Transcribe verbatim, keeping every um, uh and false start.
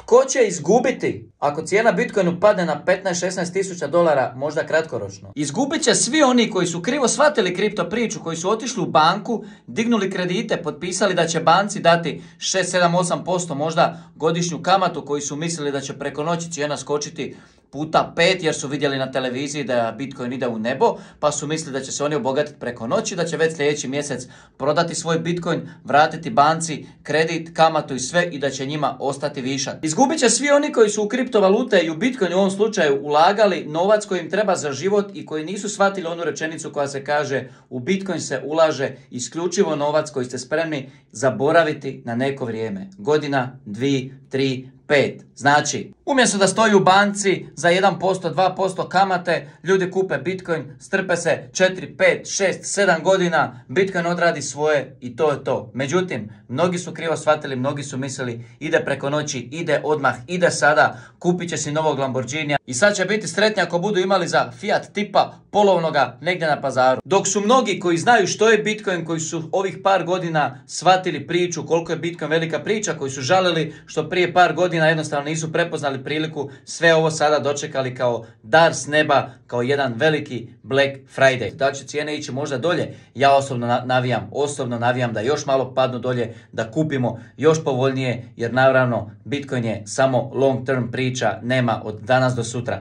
Tko će izgubiti ako cijena Bitcoinu padne na petnaest šesnaest tisuća dolara, možda kratkoročno? Izgubit će svi oni koji su krivo shvatili kripto priču, koji su otišli u banku, dignuli kredite, potpisali da će banci dati šest, sedam, osam posto možda godišnju kamatu, koji su mislili da će preko noći cijena skočiti puta pet jer su vidjeli na televiziji da Bitcoin ide u nebo, pa su mislili da će se oni obogatiti preko noći, da će već sljedeći mjesec prodati svoj Bitcoin, vratiti banci kredit, kamatu i sve i da će njima ostati višak. Izgubit će svi oni koji su u kriptovalute i u Bitcoin u ovom slučaju ulagali novac koji im treba za život i koji nisu shvatili onu rečenicu koja se kaže u Bitcoin se ulaže isključivo novac koji ste spremni zaboraviti na neko vrijeme. Godina, dvije, tri, pet. Znači, umjesto da stoji u banci za jedan posto, dva posto kamate, ljudi kupe Bitcoin, strpe se četiri, pet, šest, sedam godina, Bitcoin odradi svoje i to je to. Međutim, mnogi su krivo shvatili, mnogi su mislili ide preko noći, ide odmah, ide sada, kupit će si novog Lamborghinija i sad će biti sretni ako budu imali za Fiat tipa polovnoga negdje na pazaru. Dok su mnogi koji znaju što je Bitcoin, koji su ovih par godina shvatili priču koliko je Bitcoin velika priča, koji su žalili što prije par godina jednostavno nisu prepoznali priliku, sve ovo sada dočekali kao dar s neba, kao jedan veliki Black Friday. Da će cijene ići možda dolje? Ja osobno navijam, osobno navijam da još malo padnu dolje, da kupimo još povoljnije, jer naravno Bitcoin je samo long term priča, nema od danas do sutra.